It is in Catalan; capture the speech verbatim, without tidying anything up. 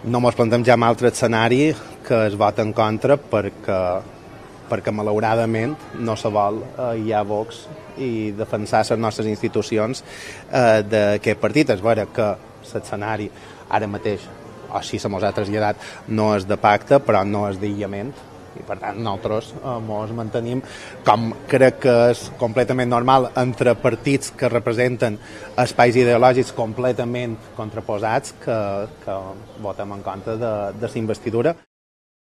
No mos plantem ja un altre escenari que es vota en contra perquè, perquè malauradament no se vol eh, hi ha Vox i defensar les nostres institucions eh, d'aquest partit. És vera que l'escenari ara mateix, o si se mos ha traslladat, no és de pacte, però no és d'aïllament, i per tant nosaltres eh, mos mantenim, com crec que és completament normal, entre partits que representen espais ideològics completament contraposats, que, que votem en contra de, de la investidura.